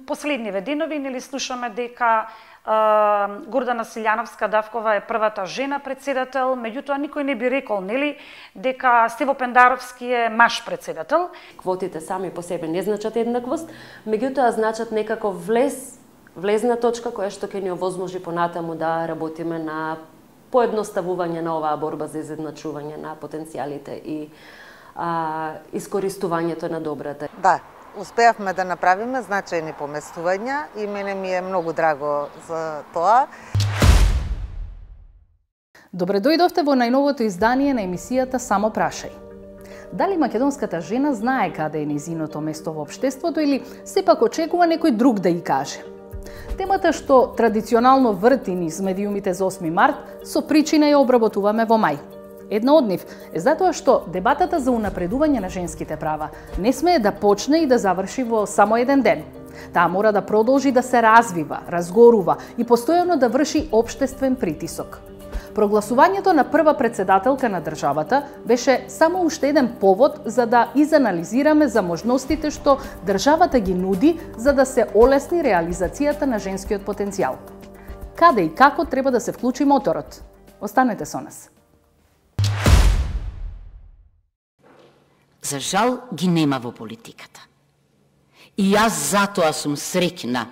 последниве денови нели слушаме дека Гордана Силјановска-Давкова е првата жена председател, меѓутоа никој не би рекол нели дека Стево Пендаровски е маж председател. Квотите сами по себе не значат еднаквост, меѓутоа значат некако влезна точка која што ќе ни овозможи понатаму да работиме на поедноставување на оваа борба за изедначување на потенцијалите и искористувањето на добрата. Да, успеавме да направиме значајни поместувања и мене ми е многу драго за тоа. Добре дојдовте во најновото издание на емисијата Само прашај. Дали македонската жена знае каде е нејзиното место во општеството или сепак очекува некој друг да ја каже? Темата што традиционално врти низ медиумите за 8 март, со причина ја обработуваме во мај. Една од нив е затоа што дебатата за унапредување на женските права не смее да почне и да заврши во само еден ден. Таа мора да продолжи да се развива, разгорува и постојано да врши општествен притисок. Прогласувањето на прва председателка на државата беше само уште еден повод за да изанализираме за можностите што државата ги нуди за да се олесни реализацијата на женскиот потенцијал. Каде и како треба да се вклучи моторот? Останете со нас. За жал ги нема во политиката. И јас затоа сум среќна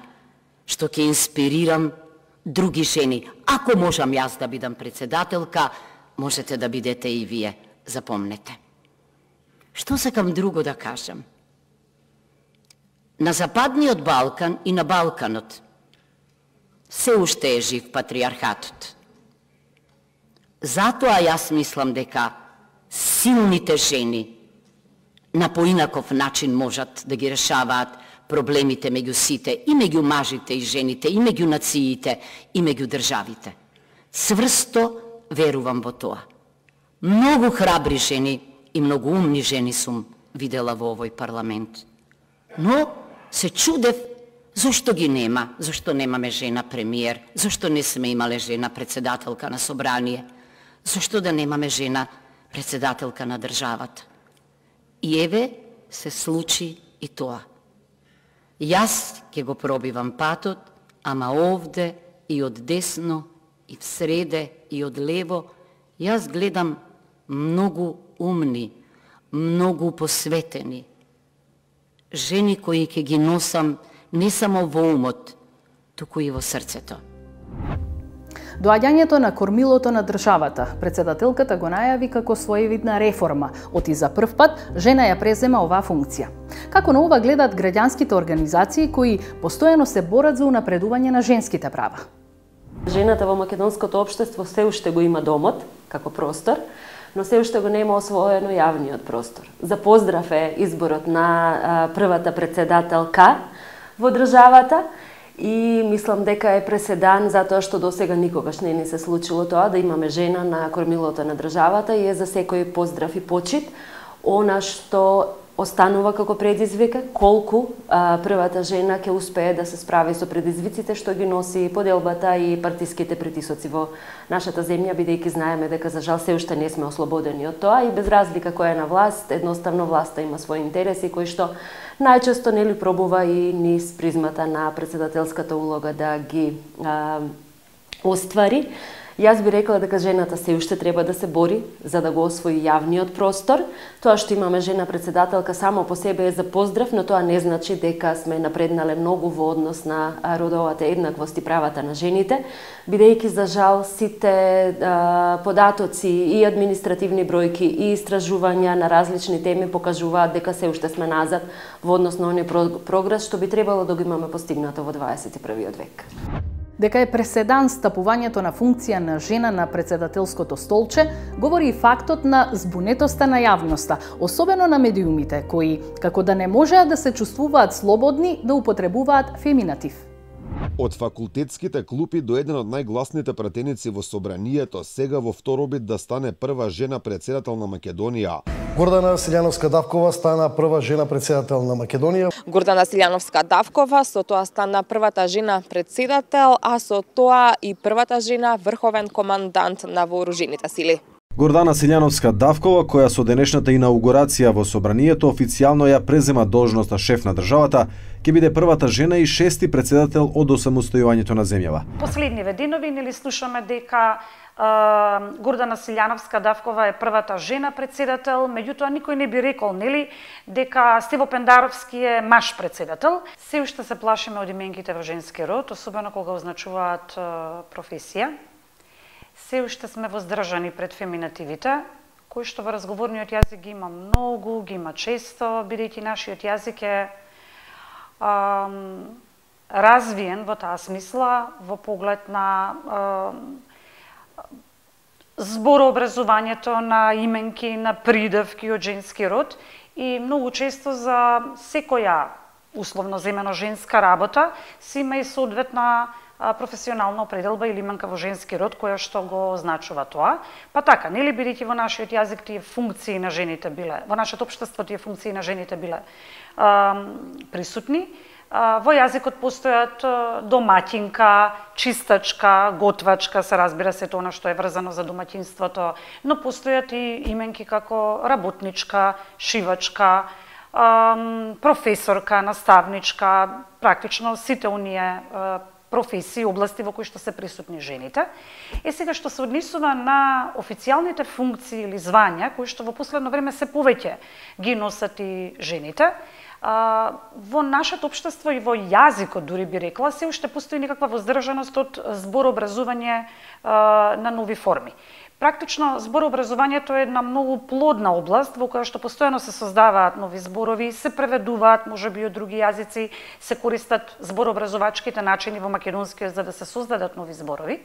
што ќе инспирирам други жени. Ако можам јас да бидам председателка, можете да бидете и вие, запомнете. Што сакам друго да кажам? На Западниот Балкан и на Балканот се уште е жив патриархатот. Затоа јас мислам дека силните жени на поинаков начин можат да ги решаваат проблемите меѓу сите, и меѓу мажите и жените, и меѓу нациите, и меѓу државите. Цврсто верувам во тоа. Многу храбри жени и многу умни жени сум видела во овој парламент. Но се чудев зошто ги нема, зошто немаме жена премиер, зошто не сме имале жена председателка на собрание, зошто да немаме жена председателка на државата. И еве се случи и тоа. Јас ќе го пробивам патот, ама овде и од десно, и всреде, и од лево, јас гледам многу умни, многу посветени. Жени кои ќе ги носам не само во умот, туку и во срцето. Доаѓањето на кормилото на државата, председателката го најави како своевидна реформа, оти за прв пат жена ја презема оваа функција. Како на ова гледат граѓанските организации кои постојано се борат за унапредување на женските права? Жената во македонското општество се уште го има домот, како простор, но се уште го нема освоено јавниот простор. За поздрав е изборот на првата председателка во државата, и мислам дека е преседан затоа што досега никогаш не ни се случило тоа да имаме жена на кормилото на државата и е за секој поздрав и почит. Она што останува како предизвик, колку првата жена ќе успее да се справи со предизвиците што ги носи поделбата и партиските притисоци во нашата земја, бидејќи знаеме дека за жал се уште не сме ослободени од тоа и без разлика која е на власт, едноставно власта има своји интереси кои што најчесто нели пробува и низ призмата на председателската улога да ги оствари. Јас би рекла дека жената се уште треба да се бори за да го освои јавниот простор. Тоа што имаме жена председателка само по себе е за поздрав, но тоа не значи дека сме напреднале многу во однос на родовата еднаквост и правата на жените, бидејќи за жал сите податоци и административни бројки и истражувања на различни теми покажуваат дека се уште сме назад во однос на оној прогрес што би требало да го имаме постигнато во 21. век. Дека е преседан стапувањето на функција на жена на председателското столче, говори и фактот на збунетоста на јавноста, особено на медиумите, кои, како да не можеа да се чувствуваат слободни да употребуваат феминатив. Од факултетските клупи до еден од најгласните пратеници во собранието, сега во второбит да стане прва жена председател на Македонија. Гордана Силјановска-Давкова стана прва жена председател на Македонија. Гордана Силјановска-Давкова со тоа стана првата жена председател, а со тоа и првата жена врховен командант на вооружените сили. Гордана Силјановска-Давкова, која со денешната инаугурација во собранието официјално ја презема должноста шеф на државата, ќе биде првата жена и шести претседател од осамостојувањето на земјава. Последниве денови нели слушаме дека Гордана Силјановска-Давкова е првата жена претседател, меѓутоа никој не би рекол нели дека Стево Пендаровски е маж претседател. Се уште се плашиме од именките во женски род, особено кога означуваат професија. Се уште сме воздржани пред феминативите, кои што во разговорниот јазик ги има многу, ги има често, бидејќи нашиот јазик е развиен во таа смисла, во поглед на зборообразувањето на именки, на придавки од женски род и многу често за секоја условно земено женска работа си има и соодветна професионална определба или именка во женски род која што го означува тоа. Па така, нели бидејќи во нашиот јазик тие функции на жените биле, во нашето општество тие функции на жените биле присутни, во јазикот постојат домаќинка, чистачка, готвачка, се разбира се тоа што е врзано за домаќинството, но постојат и именки како работничка, шивачка, професорка, наставничка, практично сите оние професии, области во кои што се присутни жените. Сега што се однесува на официјалните функции или звања, кои што во последно време се повеќе ги носат и жените, во нашето општество и во јазикот, дури би рекла, се уште постои некаква воздржаност од зборообразување на нови форми. Практично, зборообразувањето е една многу плодна област во која што постојано се создаваат нови зборови, се преведуваат, можеби од други јазици, се користат зборообразувачките начини во македонскиот за да се создадат нови зборови.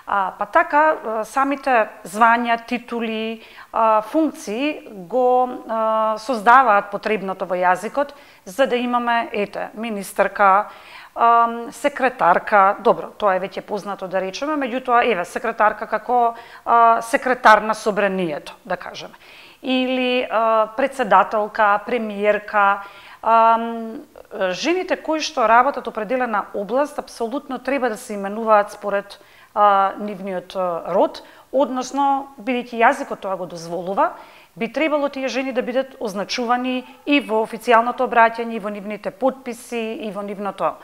Па така, самите звања, титули, функции го создаваат потребното во јазикот, за да имаме, министерка, секретарка, добро, тоа е веќе познато да речеме, меѓутоа, секретарка како секретар на собранието, да кажеме. Или председателка, премиерка, жените кои што работат определена област, апсолутно треба да се именуваат според нивниот род, односно, бидејќи јазикот тоа го дозволува, би требало тие жени да бидат означувани и во официјалното обраќање, и во нивните подписи, и во нивното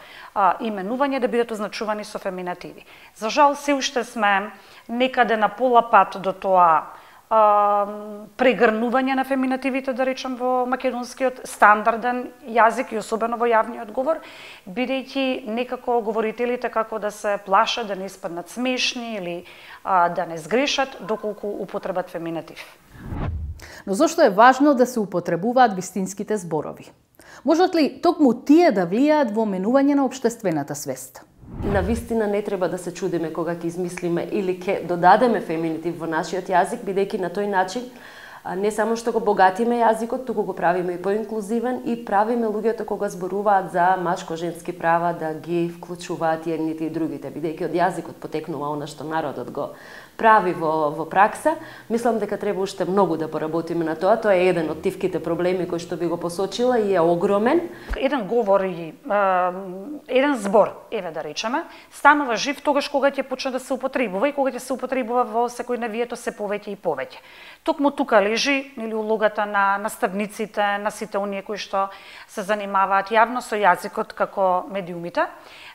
именување да бидат означувани со феминативи. За жал, се уште сме некаде на пола пат до тоа прегрнување на феминативите, да речем, во македонскиот стандарден јазик и особено во јавниот говор, бидејќи некако говорителите како да се плашат да не испаднат смешни или да не сгрешат доколку употребат феминатив. Но зошто е важно да се употребуваат вистинските зборови? Можат ли токму тие да влијаат во менување на општествената свест? На вистина не треба да се чудиме кога ќе измислиме или ќе додадеме феминитив во нашиот јазик, бидејќи на тој начин не само што го богатиме јазикот, туку го правиме и поинклузивен и правиме луѓето кога зборуваат за машко-женски права да ги вклучуваат едните и другите, бидејќи од јазикот потекнува она што народот го прави во пракса. Мислам дека треба уште многу да поработиме на тоа. Тоа е еден од тивките проблеми кои што би го посочила и е огромен. Еден говор и еден збор, да речеме, станува жив тогаш кога ќе почне да се употребува и кога ќе се употребува во секојдневието се повеќе и повеќе. Токму тука лежи улогата на наставниците, на сите оние кои што се занимаваат јавно со јазикот како медиумите,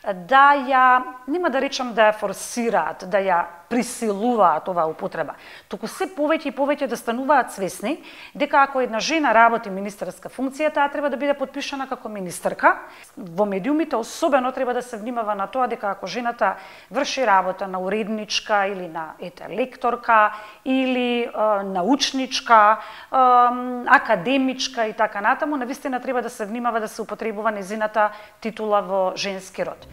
да ја, нема да речам да ја форсираат, да ја присилуваат оваа употреба, туку се повеќе и повеќе да стануваат свесни дека ако една жена работи министерска функција, таа треба да биде подпишана како министерка. Во медиумите особено треба да се внимава на тоа дека ако жената врши работа на уредничка или на лекторка или научничка, академичка и така натаму, навистина треба да се внимава да се употребува незината титула во женски род.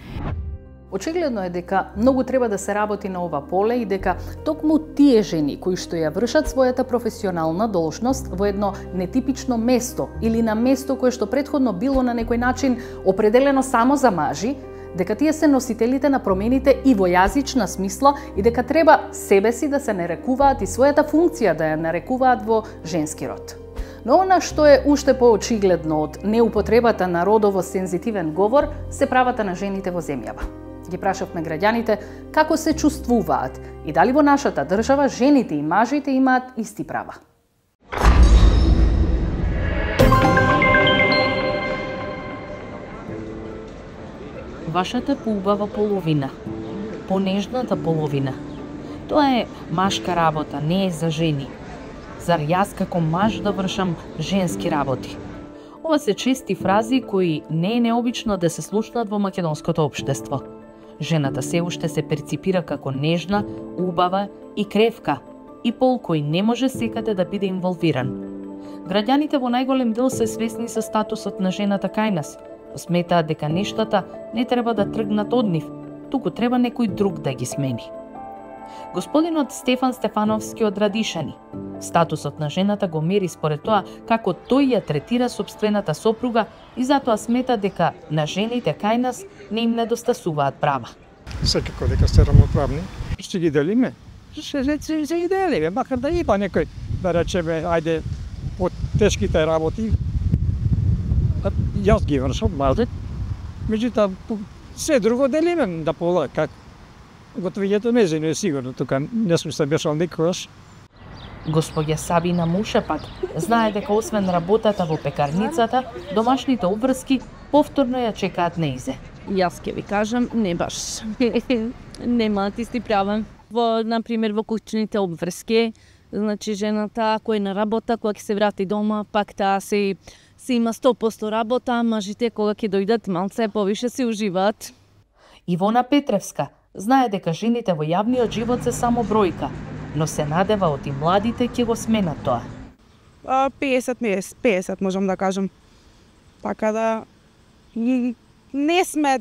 Очигледно е дека многу треба да се работи на ова поле и дека токму тие жени кои што ја вршат својата професионална должност во едно нетипично место или на место кое што претходно било на некој начин определено само за мажи, дека тие се носителите на промените и во јазична смисла и дека треба себе си да се нарекуваат и својата функција да ја нарекуваат во женски род. Но она што е уште поочигледно од неупотребата на родово сензитивен говор се правата на жените во земјава. Ги прашавме граѓаните како се чувствуваат и дали во нашата држава жените и мажите имаат исти права. Вашата поубава половина, понежната половина. Тоа е машка работа, не е за жени. Зар јас како маж да вршам женски работи? Ова се чести фрази кои не е необично да се слушнат во македонското општество. Жената се уште се перципира како нежна, убава и кревка, и пол кој не може секаде да биде инволвиран. Граѓаните во најголем дел се свесни со статусот на жената кај нас, сметаат дека нештата не треба да тргнат од нив, туку треба некој друг да ги смени. Господинот Стефан Стефановски од Радишани, статусот на жената го мери според тоа како тој ја третира сопствената сопруга и затоа смета дека на жените кај нас не им недостасуваат права. Секако дека сте рамноправни, ще ги делиме. Ще ги делиме, макар да има некој, да речеме, ајде, по тешките работи, јас ги вршам, мажет, меѓутоа се друго делиме да пола, как готовењето не е сигурно, тука не сум се бешал никогаш. Господја Сабина Мушепак знае дека освен работата во пекарницата, домашните обврски повторно ја чекаат неизе. Јас ќе ви кажам, не баш. Немаат исти права. Например, во куќните обврски, значи жената кој е на работа, кога ќе се врати дома, пак таа се има 100% работа, мажите кога ќе дојдат малце повише се уживаат. Ивона Петревска знае дека жените во јавниот живот се само бројка, но се надева од и младите ќе го сменат тоа. 50 можам да кажам. Така да не сме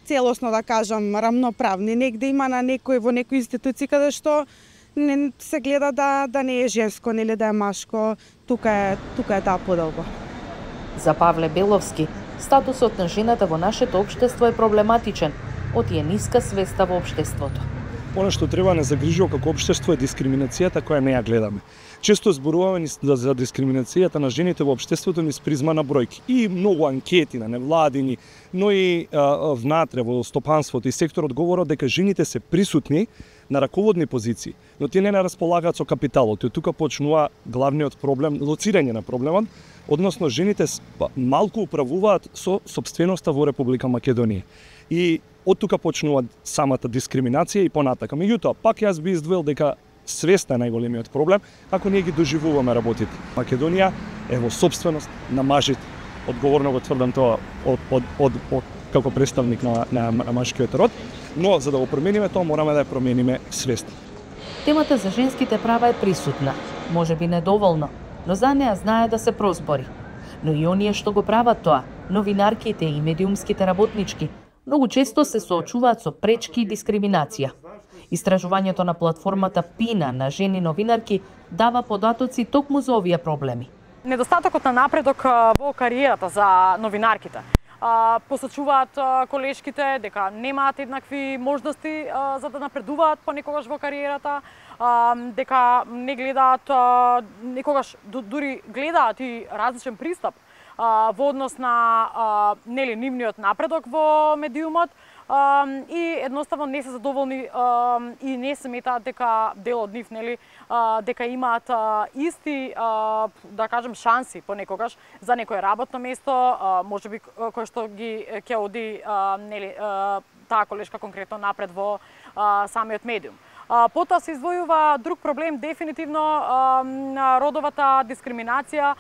целосно да кажам рамноправни, негде има на некој во некој институција каде што не се гледа да не е женско, нели да е машко, тука е таа поделба. За Павле Беловски, статусот на жената во нашето општество е проблематичен, од е ниска свеста во општеството. Она што треба да не загрижува како општество е дискриминацијата која не ја гледаме. Често зборуваме за дискриминацијата на жените во општеството низ призма на бројки. И многу анкети на невладини, но и внатре во стопанството и секторот говорат дека жените се присутни на раководни позиции, но тие не располагаат со капиталот. И тука почнува главниот проблем, лоцирање на проблемот, односно жените малку управуваат со сопственоста во Република Македонија. И од тука почнува самата дискриминација и понатака. Меѓутоа, пак јас би издвоил дека свеста е најголемиот проблем, ако ние ги доживуваме работите. Македонија е во сопственост на мажите. Одговорно го тврдам тоа како представник на машкиот род, но за да го промениме тоа мораме да ја промениме свеста. Темата за женските права е присутна, можеби недоволно, но за неа знае да се прозбори. Но и оние што го прават тоа, новинарките и медиумските работнички, многу често се соочуваат со пречки и дискриминација. Истражувањето на платформата Пина на жени новинарки дава податоци токму за овие проблеми. Недостатокот на напредок во кариерата за новинарките. Посочуваат колешките дека немаат еднакви можности за да напредуваат понекогаш во кариерата, дека не гледаат, некогаш дури гледаат и различен пристап во однос на нивниот напредок во медиумот и едноставно не се задоволни и не сметаат дека дел од нив дека имаат исти да кажем шанси понекогаш за некое работно место, можеби кој што ги ќе оди таа колешка конкретно напред во самиот медиум. Потоа се издвојува друг проблем, дефинитивно родовата дискриминација,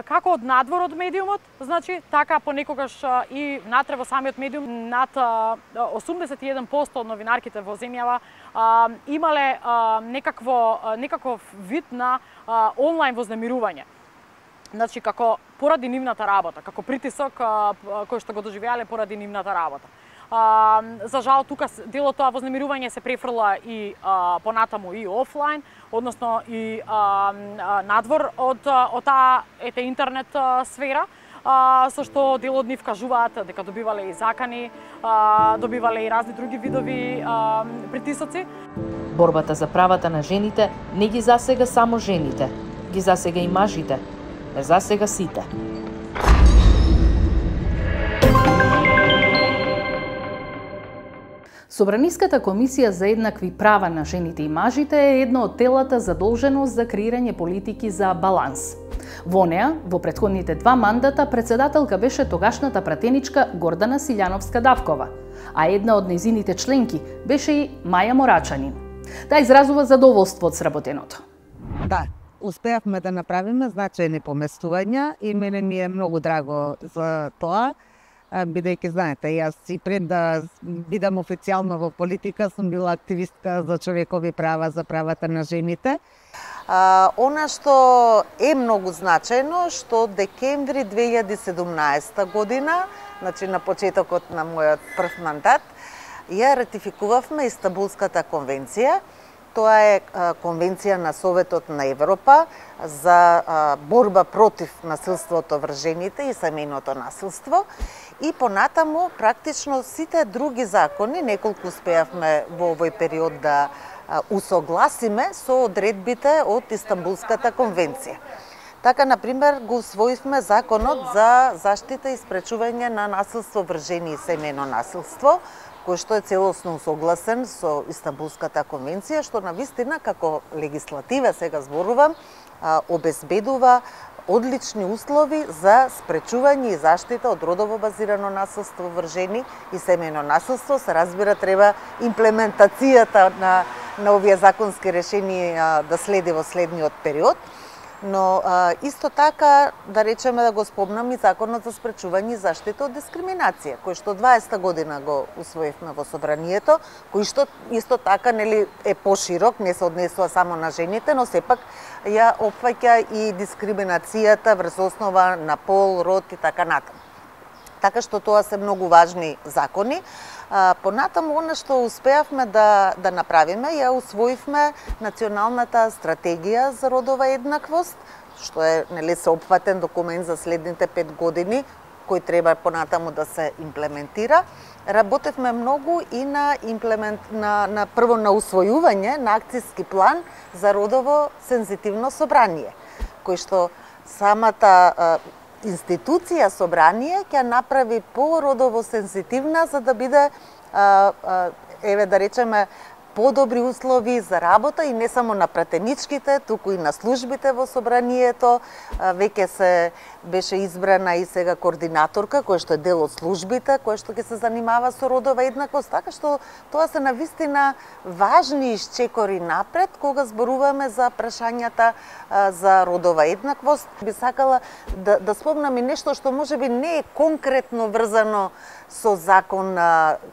како од надвор од медиумот, значи така понекогаш и внатре во самиот медиум. Над 81% од новинарките во земјава имале некаков вид на онлайн вознемирување. Значи како поради нивната работа, како притисок кој што го доживеале поради нивната работа. За жал, тука делот тоа вознемирување се префрла и понатаму и офлайн, односно и надвор од таа интернет сфера, со што дел од нив кажуваат дека добивале и закани, добивале и разни други видови притисоци. Борбата за правата на жените не ги засега само жените, ги засега и мажите, не засега сите. Собраниската комисија за еднакви права на жените и мажите е едно од телата задолжено за креирање политики за баланс. Во неа, во претходните 2 мандата, председателка беше тогашната пратеничка Гордана Силјановска-Давкова, а една од нејзините членки беше и Маја Морачанин. Таа изразува задоволство од сработеното. Да, успеавме да направиме значајни поместувања и мене ми е многу драго за тоа, бидејќи знаете, јас и пред да бидам официјално во политика сум била активистка за човекови права, за правата на жените. Она што е многу значајно, што декември 2017 година, значи на почетокот на мојот прв мандат, ја ратификувавме Истанбулската конвенција. Тоа е конвенција на Советот на Европа за борба против насилството врз жените и семејното насилство. И понатаму, практично сите други закони, неколку успеавме во овој период да усогласиме со одредбите од Истанбулската конвенција. Така, например, го усвоивме законот за заштита и спречување на насилство врз жени и семејно насилство, кој што е целосно усогласен со Истанбулската конвенција, што навистина како легислатива, сега зборувам, обезбедува одлични услови за спречување и заштита од родово базирано насилство врз жени и семејно насилство. Се разбира, треба имплементацијата на овие законски решенија да следи во следниот период. Но исто така, да речеме, да го спомнам и Законот за спречување и заштита од дискриминација, кој што 20 година го усвоивме во собранието, кој што исто така е поширок, не се однесува само на жените, но сепак ја опфаќа и дискриминацијата врз основа на пол, род и така натаму. Така што тоа се многу важни закони. Понатаму, она што успеавме да направиме, ја усвоивме националната стратегија за родова еднаквост, што е сеопфатен документ за следните 5 години, кој треба понатаму да се имплементира. Работевме многу и прво на усвојување на акцијски план за родово сензитивно собрание, кој што самата институција собрание ќе направи породово сензитивна за да биде да речеме подобри услови за работа и не само на пратеничките, туку и на службите во собранието. Веќе се беше избрана и сега координаторка, која што е дел од службите, која што ќе се занимава со родова еднаквост, така што тоа се навистина важни исчекори напред кога зборуваме за прашањата за родова еднаквост. Би сакала да спомнам и нешто што можеби не е конкретно врзано со закон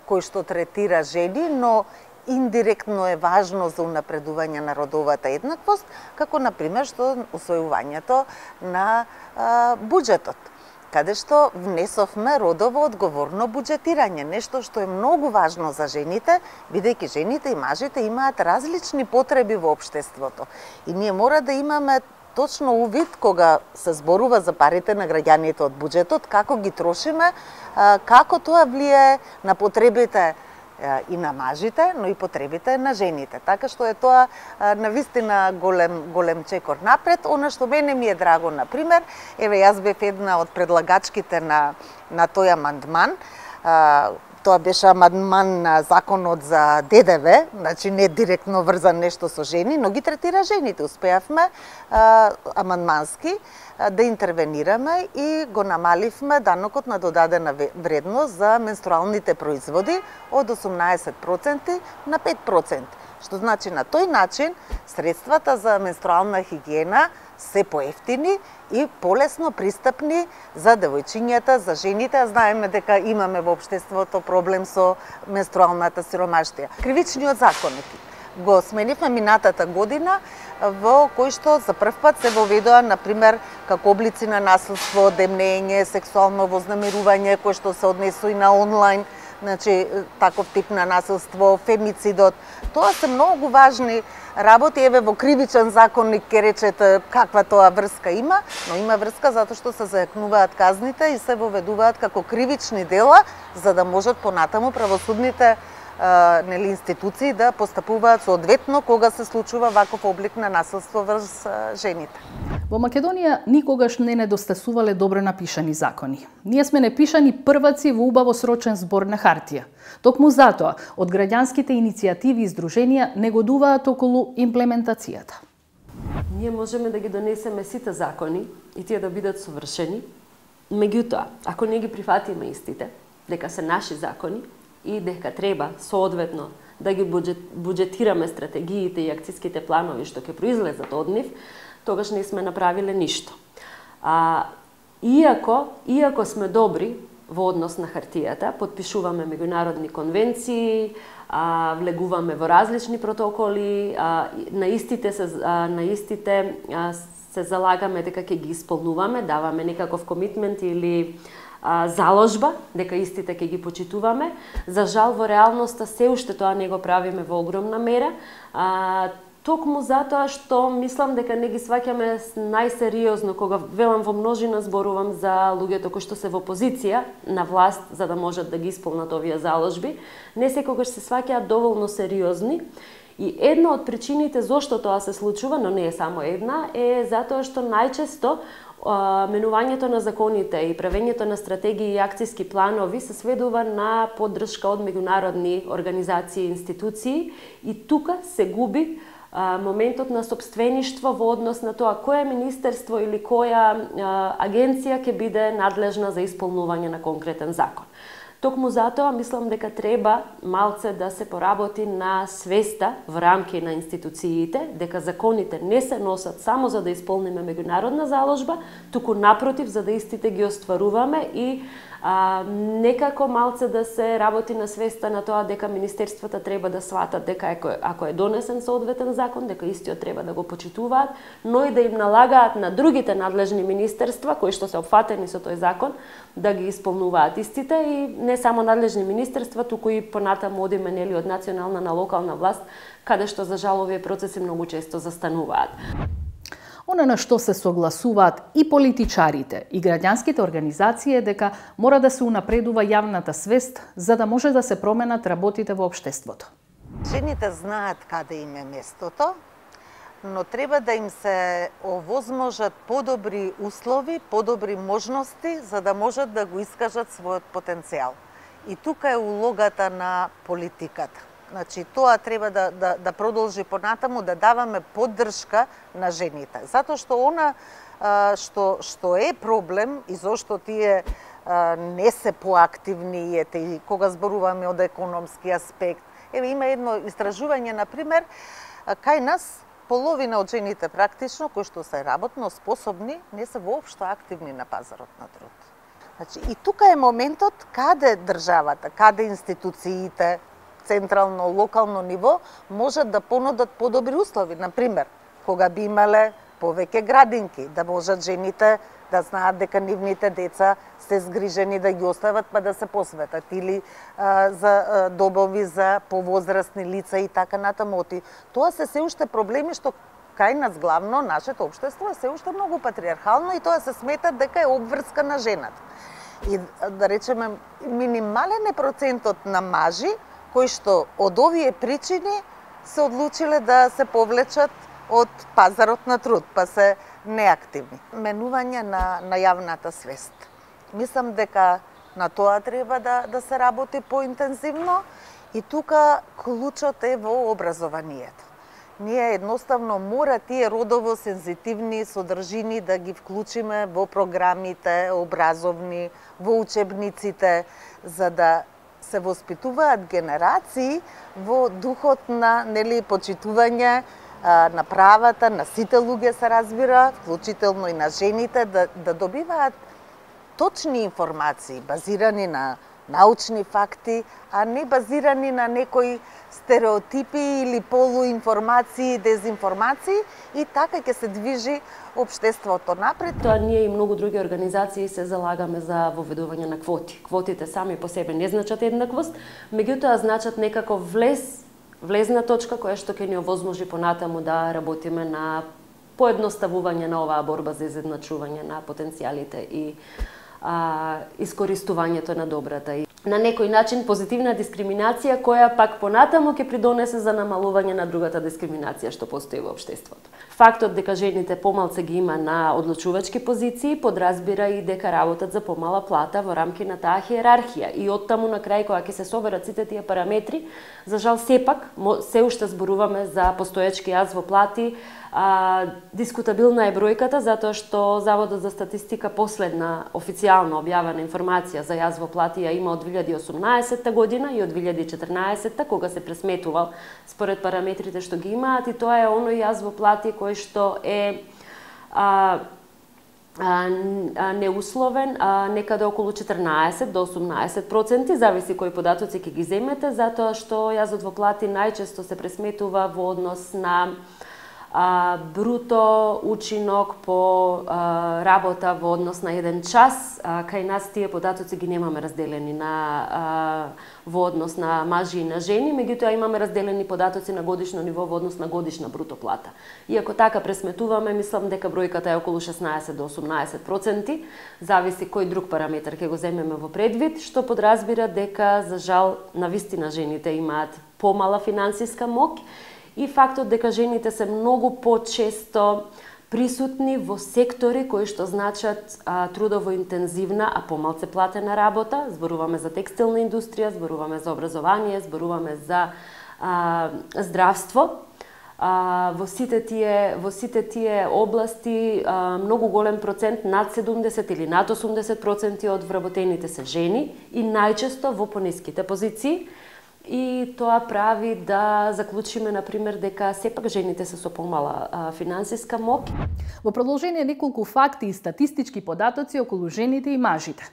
кој што третира жени, но индиректно е важно за унапредување на родовата еднаквост, како например што усвојувањето на буџетот, каде што внесовме родово одговорно буџетирање, нешто што е многу важно за жените, бидејќи жените и мажите имаат различни потреби во општеството. И ние мора да имаме точно увид кога се зборува за парите на граѓаните од буџетот, како ги трошиме, како тоа влијае на потребите и на мажите, но и потребите на жените. Така што е тоа навистина голем чекор напред. Она што мене ми е драго, например, јас бев една од предлагачките на тој амандман. Тоа беше амандман на законот за ДДВ, значи не директно врзан нешто со жени, но ги третира жените. Успеавме амандмански да интервенираме и го намаливме данокот на додадена вредност за менструалните производи од 18% на 5%. Што значи на тој начин средствата за менструална хигиена се поевтини и полесно пристапни за девојчињата, за жените. Знаеме дека имаме во општеството проблем со менструалната сиромаштија. Кривичниот законник го сменивме минатата година, во кој што за прв пат се воведоа, например, како облици на насилство, демнење, сексуално вознамерување, кој што се однесува и на онлайн, значи таков тип на насилство, фемицидот. Тоа се многу важни работи. Еве во кривичен законник ке речете каква тоа врска има, но има врска затоа што се зајакнуваат казните и се воведуваат како кривични дела, за да можат понатаму правосудните институции да постапуваат соодветно кога се случува ваков облик на насилство врз жените. Во Македонија никогаш не недостасувале добро напишани закони. Ние сме непишани прваци во убаво срочен збор на хартија. Токму затоа, од граѓанските иницијативи и здруженија негодуваат околу имплементацијата. Ние можеме да ги донесеме сите закони и тие да бидат совршени, меѓутоа, ако не ги прифатиме истите, дека се наши закони и дека треба соодветно да ги буџетираме стратегиите и акциските планови што ќе произлезат од нив, тогаш не сме направиле ништо. Иако сме добри во однос на хартијата, потпишуваме меѓународни конвенции, влегуваме во различни протоколи, на истите се залагаме дека ќе ги исполнуваме, даваме некаков комитмент или заложба дека истите ќе ги почитуваме. За жал во реалноста се уште тоа не го правиме во огромна мера. Токму затоа што мислам дека не ги сваќаме најсериозно, кога велам во множина зборувам за луѓето кои што се во позиција на власт за да можат да ги исполнат овие заложби, не секогаш се сваќаат доволно сериозни. И една од причините зошто тоа се случува, но не е само една, е затоа што најчесто менувањето на законите и правењето на стратегии и акциски планови се сведува на поддршка од меѓународни организации и институции и тука се губи моментот на сопствеништво во однос на тоа кое министерство или која агенција ќе биде надлежна за исполнување на конкретен закон. Токму затоа мислам дека треба малце да се поработи на свеста во рамки на институциите, дека законите не се носат само за да исполниме меѓународна заложба, туку напротив за да истите ги остваруваме и некако малце да се работи на свеста на тоа дека министерствата треба да сватат дека ако е донесен соодветен закон, дека истиот треба да го почитуваат, но и да им налагаат на другите надлежни министерства кои што се опфатени со тој закон да ги исполнуваат истите и не само надлежни министерства, туку и понатаму одиме нели од национална на локална власт, каде што за жал овие процеси многу често застануваат. Она на што се согласуваат и политичарите и граѓанските организации е дека мора да се унапредува јавната свест за да може да се променат работите во општеството. Жените знаат каде им е местото, но треба да им се овозможат подобри услови, подобри можности за да можат да го искажат својот потенцијал. И тука е улогата на политиката. Значи, тоа треба да продолжи понатаму, да даваме поддршка на жените. Затоа што она што е проблем и зошто тие не се поактивни и кога зборуваме од економски аспект. Еве има едно истражување, например, кај нас половина од жените практично кои што се работно способни не се воопшто активни на пазарот на труд. Значи, и тука е моментот каде државата, каде институциите, централно, локално ниво, можат да понудат подобри услови. Например, кога би имале повеќе градинки, да можат жените да знаат дека нивните деца се згрижени да ги остават па да се посветат, или за добови за повозрастни лица и така натаму. Тоа се уште проблеми што кај нас главно нашето општество е се уште многу патриархално и тоа се смета дека е обврска на жената. И да речеме минимален е процентот на мажи кои што од овие причини се одлучиле да се повлечат од пазарот на труд, па се неактивни. Менување на јавната свест. Мислам дека на тоа треба да се работи поинтензивно и тука клучот е во образованието. Ние едноставно мора тие родово сензитивни содржини да ги вклучиме во програмите образовни, во учебниците, за да се воспитуваат генерации во духот на почитување на правата на сите луѓе, се разбира, вклучително и на жените, да добиваат точни информации, базирани на научни факти, а не базирани на некои стереотипи или полуинформации, дезинформации, и така ќе се движи општеството напред. Тоа ние и многу други организации се залагаме за воведување на квоти. Квотите сами по себе не значат еднаквост, меѓутоа значат некако влезна точка која што ќе ни овозможи понатаму да работиме на поедноставување на оваа борба за изедначување на потенцијалите и искористувањето на добрата. на некој начин позитивна дискриминација која пак понатаму ќе придонесе за намалување на другата дискриминација што постои во општеството. Фактот дека жените помалце ги има на одлучувачки позиции подразбира и дека работат за помала плата во рамки на таа хиерархија и оттаму на крај кога ќе се соберат сите тие параметри, за жал сепак се уште зборуваме за постоечки јаз во плати. Дискутабилна е бројката затоа што Заводот за статистика последна официјално објавена информација за јаз во плати ја има од 2018 година и од 2014 кога се пресметувал според параметрите што ги имаат, и тоа е оној јаз во плати кој што е неусловен, некаде околу 14 до 18%, зависи кои податоци ќе ги земете, затоа што јазот во плати најчесто се пресметува во однос на бруто учинок по работа во однос на 1 час. Кај нас тие податоци ги немаме разделени во однос на мажи и на жени, меѓутоа имаме разделени податоци на годишно ниво во однос на годишна бруто плата. Иако така пресметуваме, мислам дека бројката е околу 16 до 18%, зависи кој друг параметар ќе го земеме во предвид, што подразбира дека за жал навистина жените имаат помала финансиска моќ и фактот дека жените се многу почесто присутни во сектори кои што значат трудово интензивна, а помалце платена работа. Зборуваме за текстилна индустрија, зборуваме за образование, зборуваме за здравство. Во сите тие области многу голем процент, над 70 или над 80% од вработените се жени и најчесто во пониските позиции. И тоа прави да заклучиме, например, дека сепак жените се со помала финансиска моќ. Во продолжение неколку факти и статистички податоци околу жените и мажите.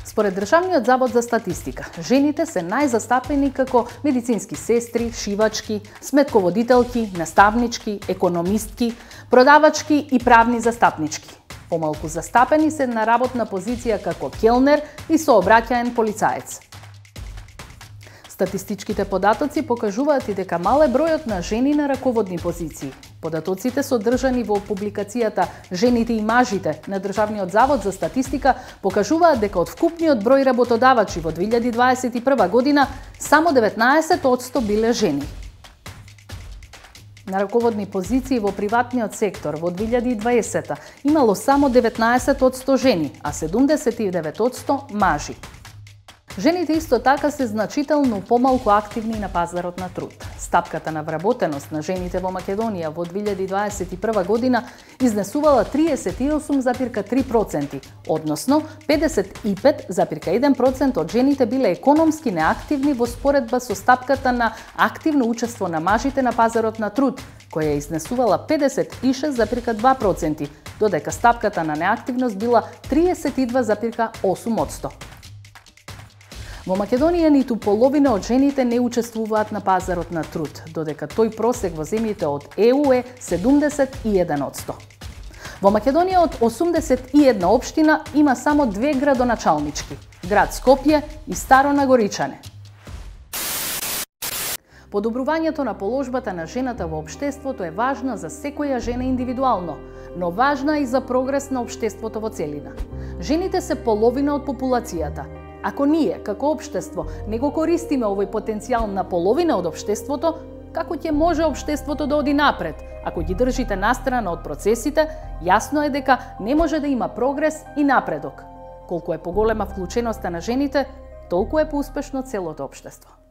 Според Државниот завод за статистика, жените се најзастапени како медицински сестри, шивачки, сметководителки, наставнички, економистки, продавачки и правни застапнички. Помалку застапени се на работна позиција како келнер и сообраќаен полицаец. Статистичките податоци покажуваат и дека мал е бројот на жени на раководни позиции. Податоците содржани во публикацијата «Жените и мажите» на Државниот завод за статистика покажуваат дека од вкупниот број работодавачи во 2021 година само 19% биле жени. На раководни позиции во приватниот сектор во 2020 имало само 19% жени, а 79% мажи. Жените исто така се значително помалку активни на пазарот на труд. Стапката на вработеност на жените во Македонија во 2021 година изнесувала 38,3%, односно 55,1% од жените биле економски неактивни во споредба со стапката на активно учество на мажите на пазарот на труд, која изнесувала 56,2%, додека стапката на неактивност била 32,8%. Во Македонија ниту половина од жените не учествуваат на пазарот на труд, додека тој просек во земјите од ЕУ е 71%. Во Македонија од 81 општина има само 2 градоначалнички – град Скопје и Старо Нагоричане. Подобрувањето на положбата на жената во општеството е важна за секоја жена индивидуално, но важна и за прогрес на општеството во целина. Жените се половина од популацијата. Ако ние, како општество, не го користиме овој потенцијал на половина од општеството, како ќе може општеството да оди напред? Ако ги држите настрана од процесите, јасно е дека не може да има прогрес и напредок. Колку е поголема вклученоста на жените, толку е поуспешно целото општество.